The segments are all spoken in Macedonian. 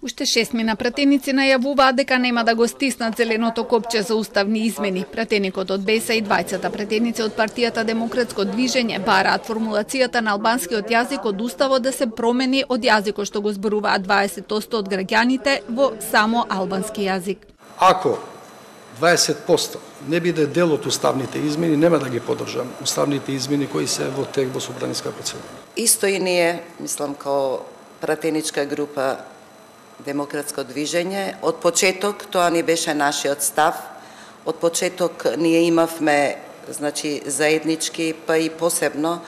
Уште 6 пратеници најавуваа дека нема да го стиснат зеленото копче за уставни измени. Пратеникот од БЕСА и двајцата пратеници од партијата Демократско движење бараат формулацијата на албанскиот јазик од уставот да се промени од јазикот што го зборуваат 20% од граѓаните во само албански јазик. Ако 20% не биде дел од уставните измени, нема да ги поддржам уставните измени кои се во тек во собраниска процедура. Исто и ние, мислам, као пратеничка група Демократско движење, од почеток тоа ни беше нашиот став. Од почеток ние имавме, значи, заеднички, па и посебно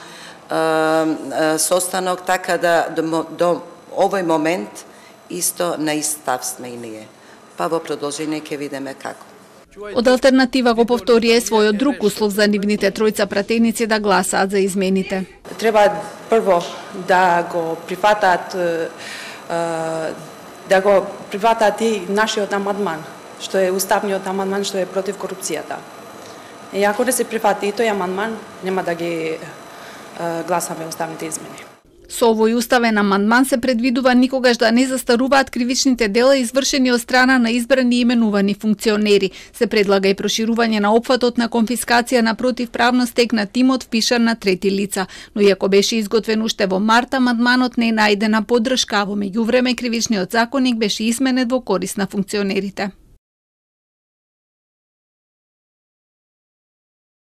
состанок, така да до овој момент исто на ист став сме и ние. Па во продолжение ќе видиме како. Од алтернатива го повторија својот друг услов за нивните тројца пратеници да гласаат за измените. Треба прво да го прифатат и нашиот амандман, што е уставниот амандман што е против корупцијата. И ако не се прифати и тој амандман, нема да ги гласаме уставните измени. Со овој уставен амандман се предвидува никогаш да не застаруваат кривичните дела извршени од страна на избрани и именувани функционери. Се предлага и проширување на опфатот на конфискација на противправно стекнат имот впишан на трети лица. Но иако беше изготвен уште во март, амандманот не најде на поддршка, во меѓувреме кривичниот законник беше изменет во корист на функционерите.